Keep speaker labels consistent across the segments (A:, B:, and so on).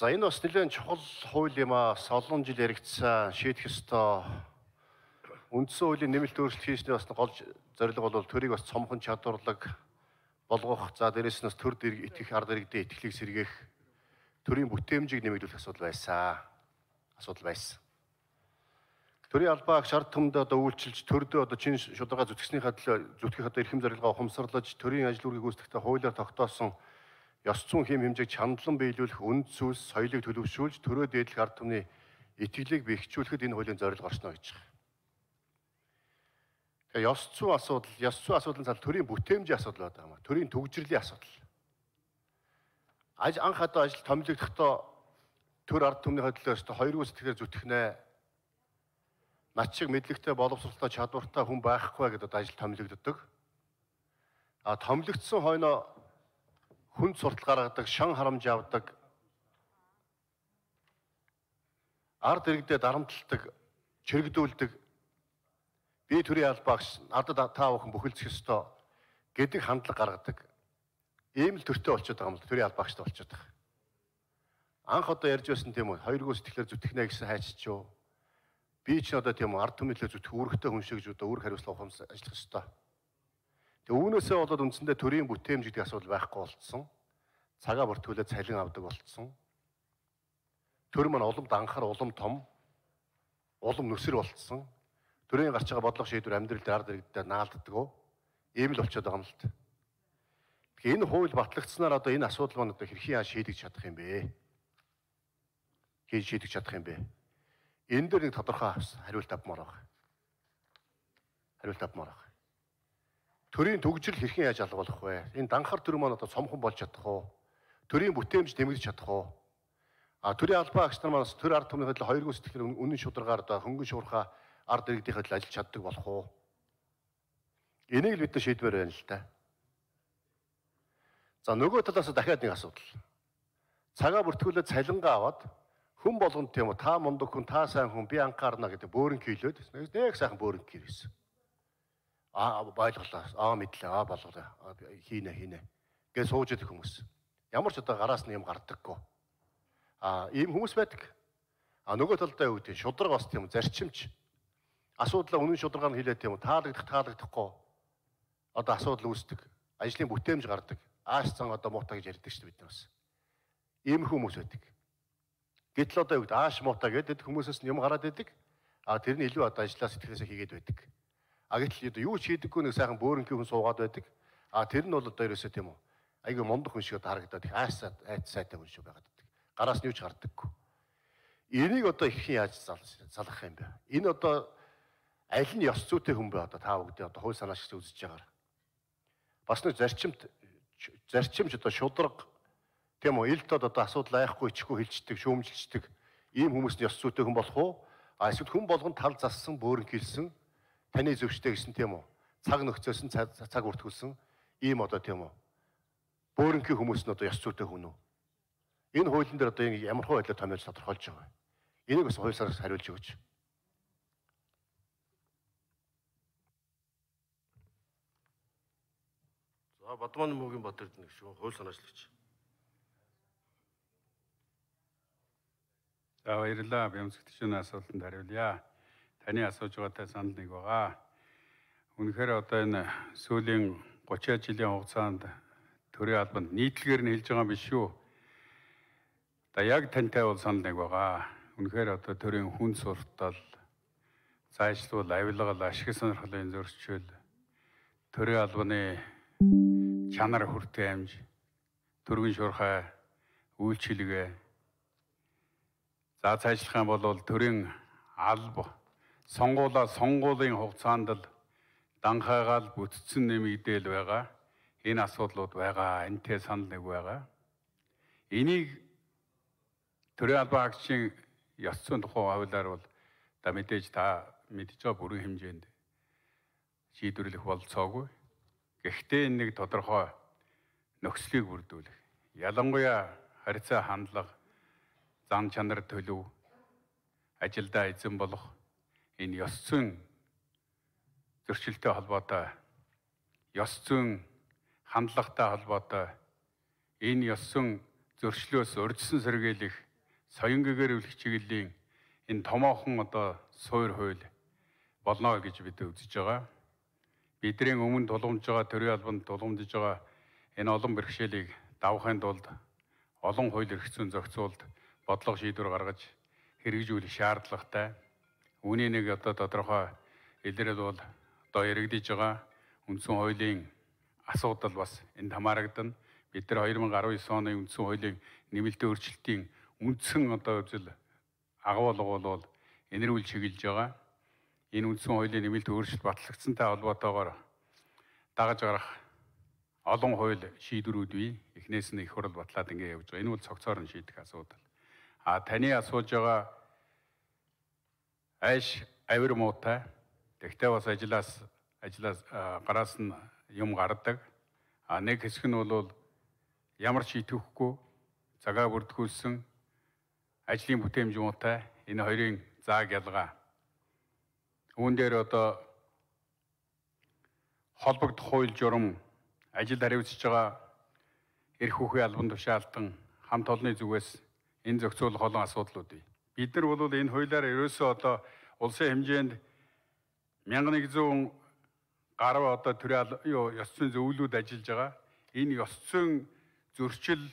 A: За энэ бас нэлээд чухал хууль юм аа. Олон жил яригдсан шийдэх ёстой үндсэн хуулийн нэмэлт өөрчлөлт хийсний бас гол зорилго бол төрийг бас цомхон чадварлаг болгох. За дээрээс нь бас төр итгэх ард иргэдэд итгэлийг сэргээх, төрийн бүтээмжийг нэмэгдүүлэх асуудал байсан. Төрийн албаа агш ард түмэнд одоо үйлчилж төрдөө одоо чин шударга зүтгэх одоо эрхэм зорилгоо ухамсарлаж төрийн ажил үүргийг гүйцэтгэхдээ хуулиар тогтоосон ёс зүйн хэм хэмжээг чандлан биелүүлэх, үнд зүйлс, соёлыг төлөвшүүлж төрөө дээдлэх ард түмний итгэлийг бэхжүүлэхэд энэ хуулийн зорилго оршно гэж байна. Тэгээ ёс зүйн асуудлын цаал төрийн бүтээмжийн асуудал байдаг юм аа. Төрийн төгжрлийн асуудал. Анх одоо ажил томилогдохдоо төр ард түмний хөдөлгөөс 2 гүйцэтгэлээр зүтгэнэ. Над шиг мэдлэгтэй, боловсролтой, чадвартай хүн байхгүй гэдэг ажил томилогддог. Томилогдсон хойноо хүнд суртал гаргадаг, шан харамж авдаг, ард иргэдэд дарамталдаг, чирэгдүүлдэг, би төрийн албаагч надад та бүхэн бүхэлдэх ёстой гэдэг хандлага гаргадаг. Ийм л төртөө болчиход байгаа юм л төрийн албаагчтай болчиход байгаа. Анх одоо ярьж байсан тийм үү, 2 гүйцэтгэлээр зүтгэнэ гэсэн хайчч юу. Би ч одоо тийм үү ард түмний төлөө зүтгэх үүрэгтэй хүн шиг одоо үүрэг хариуцлага ухамсар ажиллах ёстой. Тэгээ үүнээсээ болоод үндсэндээ төрийн бүтээмж гэдэг асуудал байхгүй болцсон. Цагаа бүртгүүлээд цалин авдаг болцсон. Төр маань уламд анхаар улам том, улам нүсэр болцсон. Төрийн гарч байгаа бодлого шийдвэр амьдрал дээр ард иргэдэд наалддаг. Ийм л болчиход байгаа юм л та. Тэгэхээр энэ хууль батлагдсанаар одоо энэ асуудал маань одоо хэрхэн шийдэж чадах юм бэ? Энэ дээр нэг тодорхой хариулт авмаар байна. Төрийн төгжрөл хэрхэн яаж алга болох вэ? Энэ данхар төр маань одоо цомхон болж чадах уу? Төрийн бүтээмж нэмэгдэж чадах уу? Төрийн албаа агч нар маань төр ард түмний хөдөл 2 гүйцэтгэлээр үнэн шударгаар одоо хөнгөн шуурхаа ард иргэдийн хөдөл ажиллаж чаддаг болох уу? Энийг л бид шийдвэр байна л да. За нөгөө талаас дахиад нэг асуудал. Цагаа бүртгүүлээд цалингаа аваад хүн болгонд тийм үү та мундаг хүн, та сайн хүн, би анхаарна гэдэг бөөрөн хийлээд нэг сайхан бөөрөн хийсэн. Байлголаа. Мэдлээ. Болголоо. Хийнэ. Гэж сууж идэх хүмүүс. Ямар ч одоо гараас нь юм гардаггүй. Ийм хүмүүс байдаг. Нөгөө талдаа юу гэдэг шудраг бас тийм зарчимч. Асуудлаа үнэн шударгаар нь хэлээд тийм таалагдахгүй. Одоо асуудал үүсдэг. Ажлын бүтээмж гардаг. Ааш цан одоо муутай гэж ярьдаг шүү дээ бид нар бас. Ийм хүмүүс байдаг. Гэтэл одоо юу гэдэг ааш муутай гэдэг хүмүүсээс нь юм гараад идэг. Тэрний илүү одоо ажлаа сэтгэлээсээ хийгээд байдаг. Гэтэл юу ч хийдэггүй нэг сайхан бөөрөнгийн хүн суугаад байдаг. Тэр нь бол одоо ерөөсөө тийм үү. Айгүй мундаг хүн шиг харагдаад их сайтай хүн шиг байгаад байдаг. Гараас нь юу ч гардаггүй. Энийг одоо хэрхэн яаж залгах юм бэ? Энэ одоо аль нь ёс зүйтэй хүн бэ одоо та бүгдээ одоо хууль санаа шиг үзэж байгаагаар. Бас нэг зарчимч одоо шудраг тийм үү элдод одоо асуудал айхгүй ичихгүй хилчдэг, шүүмжилчдэг ийм хүмүүс нь ёс зүйтэй хүн болох уу? Эсвэл хүн болгонд тал зассан, бөөрөн хилсэн, таны зөвштэй гэсэн тийм үү? Цаг нөхцөөсөн, цаг бүртгүүлсэн ийм одоо тийм үү? Бөөрөнгийн хүмүүс нь одоо ёс зүйтэй хүн үү? Энэ хуулийн дээр одоо ямар хуу байдлаар томьёолж тодорхойлж байгаа вэ? Энийг бас хууль санаас хариулж өгөөч. За Бадман Мөгийн Батэрд нэг шүү хууль санаачлагч.
B: За баярлалаа. Бямцгтчийн асуултанд хариулъя. Таны асууж байгаатай санал нэг байгаа. Үнэхээр одоо энэ сүүлийн 30 жилийн хугацаанд төрийн албанд нийтлэгээр нь хэлж байгаа юм биш шүү. Яг тантай бол санал нэг байгаа. Үнэхээр одоо төрийн хүн суртал, зайлшгүй авилгал, ашиг сонирхлын зөрчил, төрийн албаны чанар хүртээмж, төргийн шуурхай үйлчилгээ. За цаашлах юм бол төрийн алба сонгуулийн хугацаанд л данхаагаал бүтцэн нэмэгдээл байгаа. Энэ асуудлууд байгаа. Энтэй санал нэг байгаа. Энийг төрийн албан агчийн ёс зүйн тухай хуулиар бол мэдээж та мэдж байгаа бүрэн хэмжээнд шийдвэрлэх болцоогүй. Гэхдээ энэ нэг тодорхой нөхцөлийг бүрдүүлэх. Ялангуяа харьцаа хандлага, зан чанар төлөв, ажилдаа эзэн болох энэ ёс зүйн зөрчилтэй холбоотой, ёс зүйн хандлагатай холбоотой энэ ёс зүйн зөрчлөөс урьдчилан сэргийлэх соён гэгэрүүлэх чиглэлийн энэ томоохон одоо суур хууль болно гэж бид үзэж байгаа. Бидний өмнө тулгамж байгаа төрийн албанд тулгамдж байгаа энэ олон бэрхшээлийг давахын тулд олон хууль эрх зүйн зохицуулалт бодлого шийдвэр гаргаж хэрэгжүүлэх шаардлагатай. Үүний нэг одоо тодорхой илрэл бол одоо яригдж байгаа үндсэн хуулийн асуудал бас энд хамаарагдана. Бид нар 2019 оны үндсэн хуулийн нэмэлтийн өөрчлөлтийн үндсэн одоо үзэл агуулга бол энэрүүл чиглэж байгаа. Энэ үндсэн хуулийн нэмэлт өөрчлөлт батлагдсантай холбоотойгоор дагаж гарах олон хууль шийдвэрүүд бий. Эхнээс нь их хурл батлаад ингэ явж байгаа. Энэ бол цогцоор нь шийдэх асуудал. Таны асууж байгаа айш авир муутай. Тэгтээ бас ажлаас гараас нь юм гардаг. Нэг хэсэг нь бол ямар ч идэвхгүй цагаа бүрдгүүлсэн ажлын бүтээмж муутай. Энэ хоёрын зааг ялгаа. Үүн дээр одоо холбогдох хууль журам ажилд хариуцж байгаа эрх хүүхийн албан тушаалтан хамт олонны зүгээс энэ зохицуулах олон асуудлууд бий. Бид нар бол энэ хуулиар ерөөсөө одоо улсын хэмжээнд 1100 гаруй одоо төрийн ёс зүйн зөвлөлүүд ажиллаж байгаа. Энэ ёс зүйн зөрчил,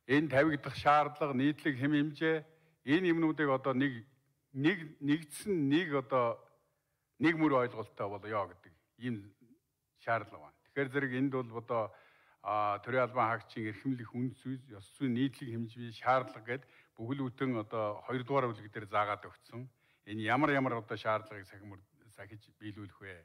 B: энэ тавигдах шаардлага, нийтлэг хэм хэмжээ энэ юмнуудыг одоо нэгдсэн нэг мөр ойлголттой болёо гэдэг ийм шаардлага байна. Тэгэхээр зэрэг энд бол одоо төрийн албан хаагчийн эрхэмлэх үнд зүйл, ёс зүйн нийтлэг хэмжээ шаардлага гэдэг бүхэл бүтэн одоо 2 дугаар бүлэг дээр заагаад өгсөн. Энэ ямар одоо шаардлагыг сахиж биелүүлэх вэ?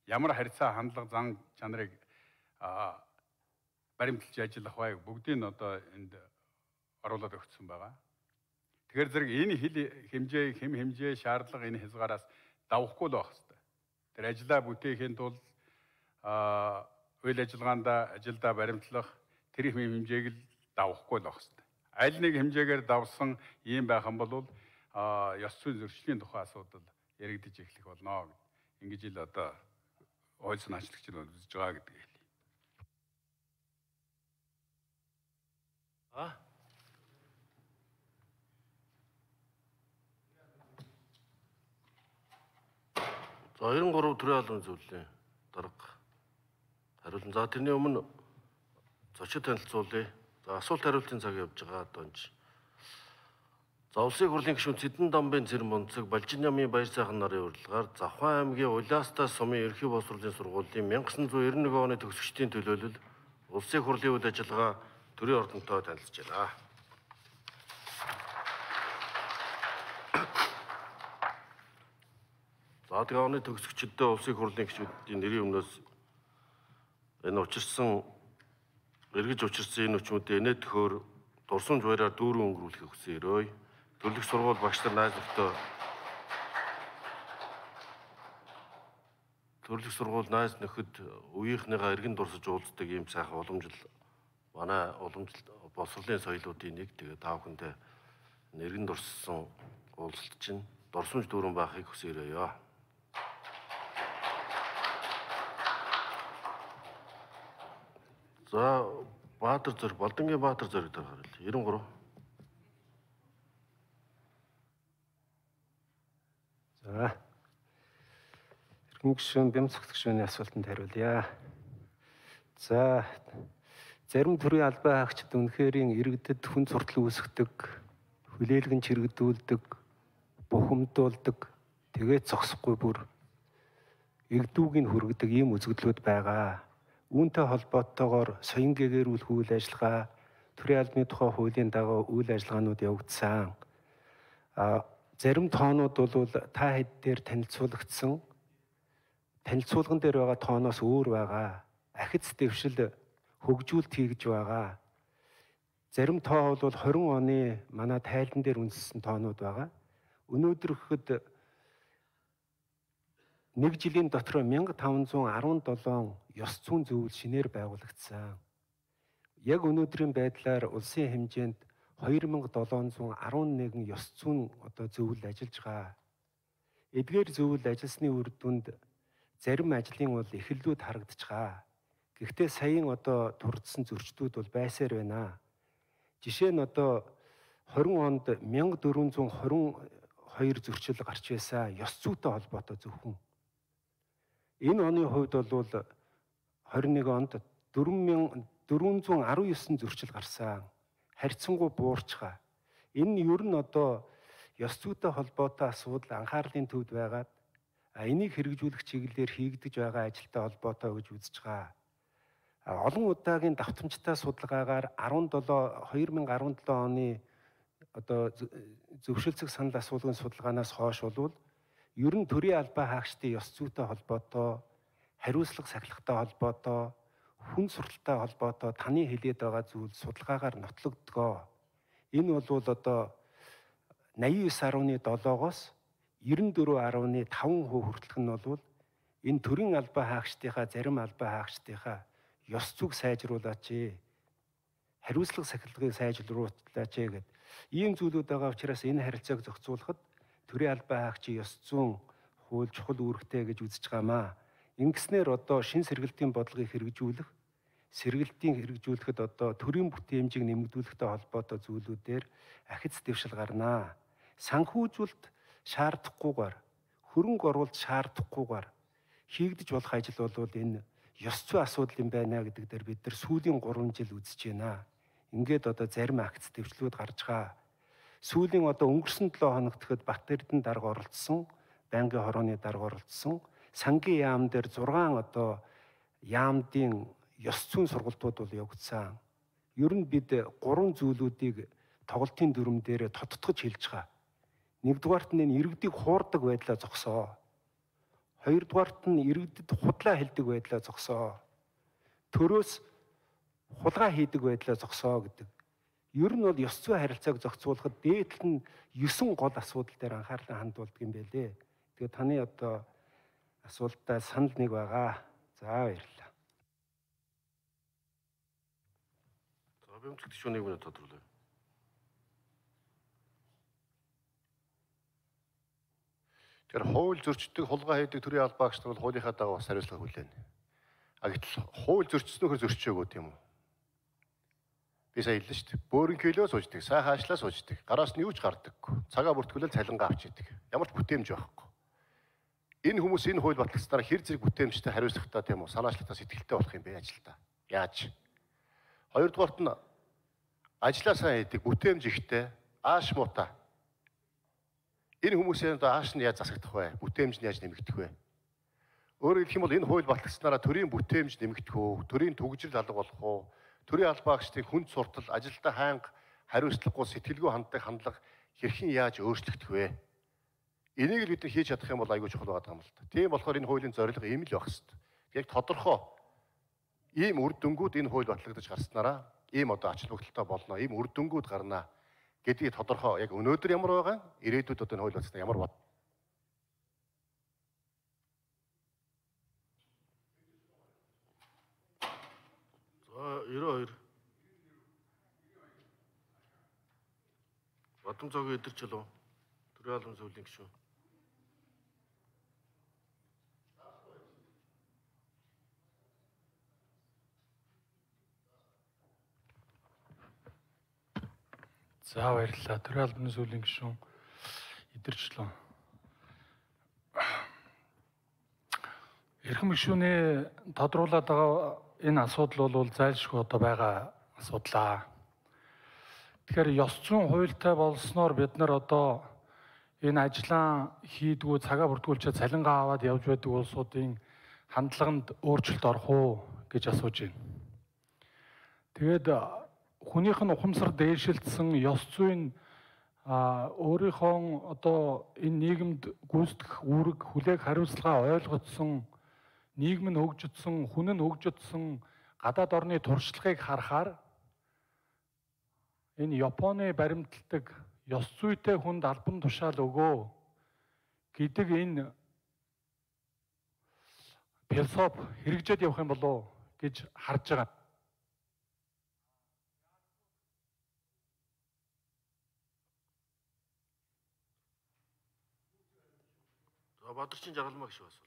B: Ямар харьцаа хандлага зан чанарыг баримталж ажиллах вэ? Бүгдийг нь одоо энд оруулаад өгсөн байгаа. Тэгэхээр зэрэг энэ хэм хэмжээ шаардлага энэ хязгаараас давахгүй л байх хэрэгтэй. Тэр ажлаа бүтээхийн тулд үйл ажиллагаанда ажилдаа баримтлах тэр хэм хэмжээг л давахгүй л байх хэрэгтэй. Аль нэг хэмжээгээр давсан ийм байх юм бол ёс зүйн зөрчлийн тухай асуудал яригдж эхлэх болно. Ингэж ил одоо хууль санаачлагч нь үзэж байгаа гэдэг хэлье.
A: За 93 төрийн албан зөвлөлийн дарга хариулна. За тэрний өмнө зочид танилцуулъя. За асуулт хариултын цаг явж байгаа одоо энэ. За улсын хурлын гишүүн Цэдэн Домбын Цэрэн Бунцэг, Балжин намын Баяр сайхан нарын урилгаар Завхан аймгийн Улаастаа сумын ерхий боловсролын сургуулийн 1991 оны төгсөгчдийн төлөөлөл улсын хурлын үйл ажиллагаа төрийн ордонтой танилцж байна. За тэгээ оны төгсөгчдөө улсын хурлын гишүүдийн нэрийн өмнөөс энэ эргэж учирсан энэ өчмөдөө инээ төхөөр дурсамж баяраар дүүрэн өнгөрүүлэхийг хүсээрөөй. Төрлөх сургууль багш нар найз нөхдөд төрлөх сургууль найз нөхөд үеийнхнийгаа эргэн дурсаж уулздаг ийм сайхан манай уламжлалт боловсролын соёлуудын нэг. Тэгээ та бүхэндээ эргэн дурссан уулзалт чинь дурсамж дүүрэн байхыг хүсээрөөё. За Балдангийн Баатар зориг дээр хариулъя. 93.
C: За. Эрхэм гишүүн Бямцогт гишүүний асуултанд хариулъя. За. Зарим төрлийн албан хаагчид үнэхэрийн иргэдэд хүн суртал үүсгдэг, хүлээлгэн чирэгдүүлдэг, бухимдуулдаг, тэгээд зогсохгүй бүр эгдүүгийг хүргэдэг ийм үзэгдлүүд байгаа. Үүнтэй холбоотойгоор соён гэгэрүүлэх үйл ажиллагаа, төрийн албаны тухай хуулийн дагуу үйл ажиллагаанууд явагдсан. Зарим тоонууд бол та хэд дээр танилцуулагдсан. Танилцуулган дээр байгаа тооноос өөр байгаа. Ахиц дэвшил хөгжүүлэлт хийж байгаа. Зарим тоо бол 20 оны манай тайлан дээр үндэссэн тоонууд байгаа. Өнөөдөр гэхэд 1 жилийн дотор 1517 ёс зүйн зөвлөл шинээр байгуулагдсан. Яг өнөөдрийн байдлаар улсын хэмжээнд 2711 ёс зүйн зөвлөл ажиллаж байгаа. Эдгээр зөвлөл ажилласны үр дүнд зарим ажлын бол эхлэлүүд харагдаж байгаа. Гэхдээ саяын турдсан зөрчлүүд бол байсаар байна. Жишээ нь 20 онд 1422 зөрчил гарч байсан ёс зүйтэй холбоотой зөвхөн. Энэ оны хувьд бол 21 онд 4419 зөрчил гарсан. Харьцангуй буурчгаа. Энэ нь ер нь одоо ёс зүйтэй холбоотой асуудал анхаарлын төвд байгаад энийг хэрэгжүүлэх чиглэлээр хийгдэж байгаа ажилтай холбоотой гэж үзэж байгаа. Олон удаагийн давтамжтай судалгаагаар 2017 оны одоо зөвшөлтсөг санал асуулгын судалгаанаас хойш бол ер нь төрийн албаа хаагчдын ёс зүйтэй холбоотой, хариуцлага сахилгатай холбоотой, хүн сурталтай холбоотой таны хэлээд байгаа зүйл судалгаагаар нотлогдгоо. Энэ бол одоо 89.7-оос 94.5% хүртэлх нь бол энэ төрийн албаа хаагчдынхаа зарим албаа хаагчдынхаа ёс зүйг сайжруулаач, хариуцлага сахилгыг сайжруулаач гэдэг ийм зүйлүүд байгаа учраас энэ харилцааг зохицуулахад төрийн албаа хаагчийн ёс зүйн хууль чухал үүрэгтэй гэж үзэж байгаамаа. Ингэснээр одоо шин сэргэлтийн бодлогыг хэрэгжүүлэх, сэргэлтийн хэрэгжүүлэхэд одоо төрийн бүтээмжийг нэмэгдүүлэхтэй холбоотой зүйлүүдээр ахиц дэвшил гарнаа. Санхүүжүүлэлт шаардахгүйгээр, хөрөнгө оруулалт шаардахгүйгээр хийгдэж болох ажил бол энэ ёс зүй асуудал юм байна гэдэг дээр бид нар сүүлийн 3 жил үзэж байна. Ингээд одоо зарим акц дэвшлүүд гарч байгаа. Сүүлийн одоо өнгөрсөн 7 хоногт Бат Эрдэнэ дарга оролцсон, байнгын хорооны дарга оролцсон, сангийн яам дээр 6 одоо яамдын ёс зүйн сургалтууд бол явагдсан. Ер нь бид 3 зүйлүүдийг тоглолтын дүрм дээр тодтогч хэлж байгаа. Нэгдүгээрт нь иргэдийг хуурдаг байдлаа зогсоо. Хоёрдугаарт нь иргэдэд худлаа хэлдэг байдлаа зогсоо. Төрөөс хулгай хийдэг байдлаа зогсоо гэдэг. Ер нь бол ёс зүйн харилцааг зохицуулахад дээдл нь 9 гол асуудал дээр анхаарлаа хандуулдаг юм байлээ. Тэгээд таны одоо асуултаа санал нэг байгаа. За баярлалаа.
A: За бэмцэгт шүүнийг минь тодруулъя. Тэгэхээр хууль зөрчдөг, хулгай хийдэг төрийн албаагч нар бол хуулийнхаа дагуу бас хариуцлага хүлээнэ. Гэтэл хууль зөрчснөөр зөрчөөгүй тийм үү? Би сая хэллээ шүү дээ. Бөөрөнхөөлөө сууждаг, сайхан ажиллаа сууждаг, гараас нь юу ч гардаггүй. Цагаа бүртгүүлэл цалингаа авч идэг. Ямар ч бүтээмж байхгүй. Энэ хүмүүс энэ хууль батлагчдаар хэр зэрэг бүтээмжтэй хариуцлагатай тийм үү? Санаачлагтай сэтгэлтэй болох юм бэ ажилдаа. Яаж? Хоёрдугаарт нь ажиллаа сайн хийдэг, бүтээмж ихтэй, ааш муутай. Энэ хүмүүсийн ааш нь яаж засагдах вэ? Бүтээмж нь яаж нэмэгдэх вэ? Өөрөөр хэлэх юм бол энэ хууль батлагчнараа төрийн бүтээмж нэмэгдэх үү, төрийн төгжрөл алга болох уу, төрийн албаагчдын хүнд суртал, ажилдаа хаанга хариуцлагагүй сэтгэлгүй ханддаг хандлага хэрхэн яаж өөрчлөгдөх вэ? Энийг л бид нар хийж чадах юм бол аягүй чухал байгаа юм л та. Тийм болохоор энэ хуулийн зорилго ийм л байх хэвээр. Яг тодорхой ийм үр дүнгууд энэ хууль батлагдаж гарснараа ийм одоо ач холбогдолтой болно, ийм үр дүнгууд гарнаа гэдгийг тодорхой яг өнөөдөр ямар байгаа, ирээдүйд одоо энэ хууль батлагдсан ямар бод. За 92 Бадам цогийн эдэр чулуу төрийн албан зөвлөлийн гишүүн.
D: За баярлалаа. Төрийн албаны зөвлөлийн гишүүн эдэрчлээ. Эрхэм гишүүний тодруулаад байгаа энэ асуудал бол зайлшгүй одоо байгаа асуудлаа. Тэгэхээр ёс зүйн хуультай болсноор бид нар одоо энэ ажлаа хийдгүү цагаа бүртгүүлчихэд цалингаа аваад явж байдаг улсуудын хандлаганд өөрчлөлт орох уу гэж асууж байна. Тэгээд хүнийх нь ухамсар дээшилдсэн ёс зүйн өөрийнхөө одоо энэ нийгэмд гүйцэтгэх үүрэг хүлээх хариуцлагаа ойлгоцсон, нийгэм нь хөгжидсэн, хүн нь хөгжидсэн гадаад орны туршлагыг харахаар энэ Японы баримталдаг ёс зүйтэй хүнд албан тушаал өгөө гэдэг энэ философи хэрэгжээд явах юм болов уу гэж харж байгаа.
A: За Бадарчин Жаргалмаа гişүү асуу.